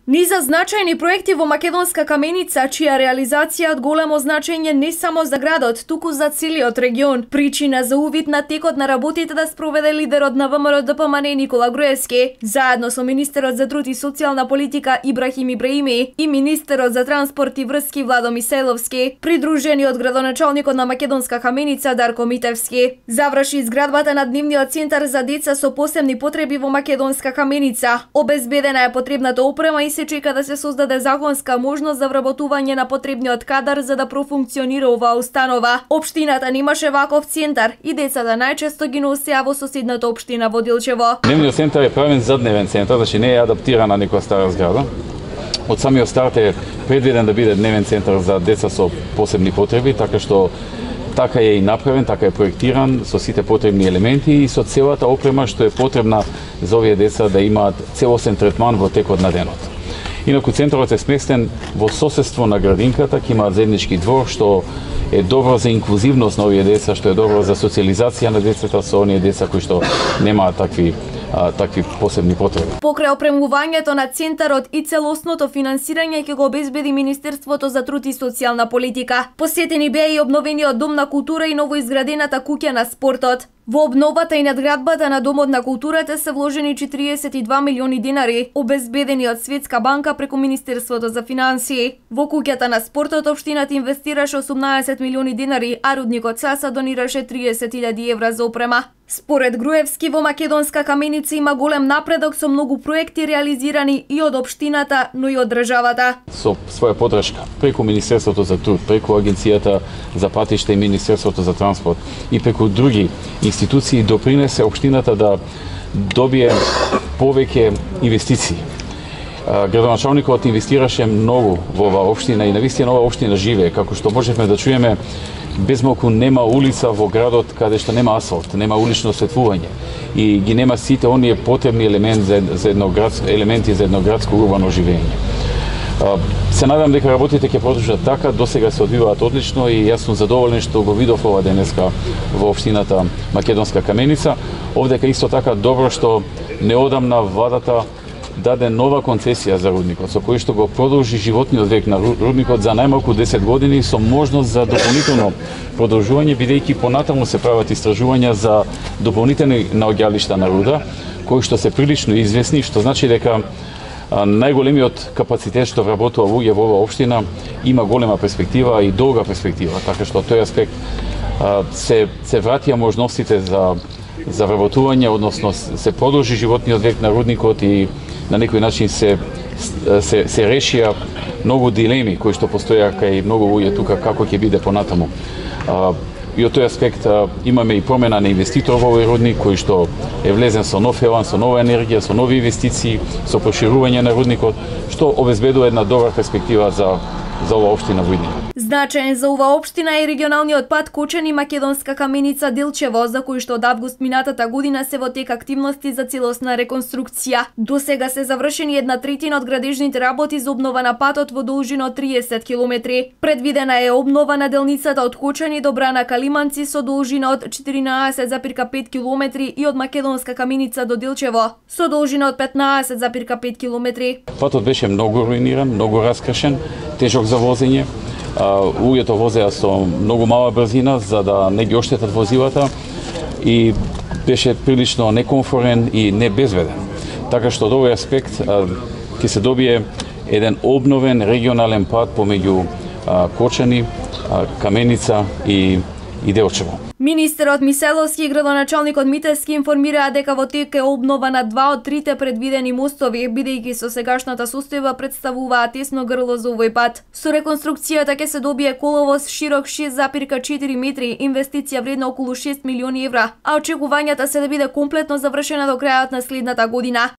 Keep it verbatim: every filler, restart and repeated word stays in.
Низа значајни проекти во македонска каменица, чија реализација од големо значење не само за градот, туку за целиот регион. Причина за увид на текот на работите да спроведе лидерот на ВМРО Д П М Н Никола Груевски, заедно со министерот за труд и социјална политика Ибрахим Ибраими и министерот за транспорт и врски Владо Мисаиловски, придружени од градоначалникот на македонска каменица Дарко Митевски. Заврши изградбата на дневниот центар за деца со посебни потреби во македонска каменица. Обезбедена е потребната опрема и се чека да се создаде законска можност за вработување на потребниот кадар за да профункционира оваа установа. Општината немаше ваков центар и децата најчесто ги носеа во соседната општина во Дилчево. Дневниот центар е правен за дневен центар, значи не е адаптирана на некоја стара зграда. Од самиот старт е предвиден да биде дневен центар за деца со посебни потреби, така што така е и направен, така е проектиран со сите потребни елементи и со целата опрема што е потребна за овие деца да имаат целосен третман во текот на денот. Инаку центарот е сместен во соседство на градинката, ќе имаат заеднички двор што е добро за инклузивност на овие деца, што е добро за социализација на децата со оние деца кои што немаат такви а, такви посебни потреби. Покрај опремувањето на центарот и целосното финансирање ќе го обезбеди Министерството за труд и социјална политика. Посетени беа и обновениот дом на култура и новоизградената куќа на спортот. Во обновата и надградбата на Домот на културата се вложени четириесет и два милиони динари, обезбедени од Светска банка преку Министерството за финансии. Во куќата на спортот општината инвестираше осумнаесет милиони динари, а рудникот Саса донираше триесет илјади евра за опрема. Според Груевски, во македонска каменица има голем напредок со многу проекти реализирани и од општината, но и од државата. Со своја подршка преку Министерството за труд, преку Агенцијата за патишта и Министерството за транспорт и преку други институции допринесе општината да добие повеќе инвестиции. Градоначалникот инвестираше многу во оваа општина и навистина оваа општина живее, како што можевме да чуеме. Без малку нема улица во градот каде што нема асфалт, нема улично осветлување и ги нема сите оние потребни елементи за, за едно градско елементи за едно градско урбано живење. Се надам дека работите ќе продолжат така, досега се одвиваат одлично и јас сум задоволен што го видов ова денеска во општината Македонска каменица. Овдека исто така добро што неодамна владата даде нова концесија за рудникот, со кој што го продолжи животниот век на рудникот за најмалку десет години со можност за дополнително продолжување, бидејќи понатаму се прават истражувања за дополнителни наоѓалишта на руда, кои што се прилично известни, што значи дека најголемиот капацитет што вработува луѓе во оваа општина има голема перспектива и долга перспектива, така што тој аспект се се вратија можностите за за вработување, односно се продолжи животниот век на рудникот и на некој начин се се се решија многу дилеми кои што постојаа кај многу луѓе тука како ќе биде понатаму. И од тој аспект имаме и промена на инвеститор во овој рудник кој што е влезен со нов елан, со нова енергија, со нови инвестиции, со проширување на рудникот, што обезбедува една добра перспектива за за оваа општина во иднина. Значаен за оваа општина е регионалниот пат Кочани Македонска каменица Дилчево, за кој што од август минатата година се во тек активности за целосна реконструкција. До сега се завршени една третина од градежните работи за обнова на патот во должина од триесет километри. Предвидена е обнова на делницата од Кочани до Брана Калиманци со должина од четиринаесет запирка пет километри и од Македонска каменица до Дилчево со должина од петнаесет запирка пет километри. Патот беше многу руиниран, многу раскршен, тежок за возење. Луѓето возеа со многу мала брзина за да не ги оштетат возилата и беше прилично некомфорен и небезведен. Така што од овој аспект ќе се добие еден обновен регионален пат помеѓу Кочани, Каменица и и Делчево. Министерот Мисаиловски и градоначалникот Митевски информираа дека во тек е обнова на два од трите предвидени мостови, бидејќи со сегашната состојба представуваа тесно грло за овој пат. Со реконструкцијата ќе се добие коловоз широк шест запирка четири метри, инвестиција вредна околу шест милиони евра, а очекувањата се да биде комплетно завршена до крајот на следната година.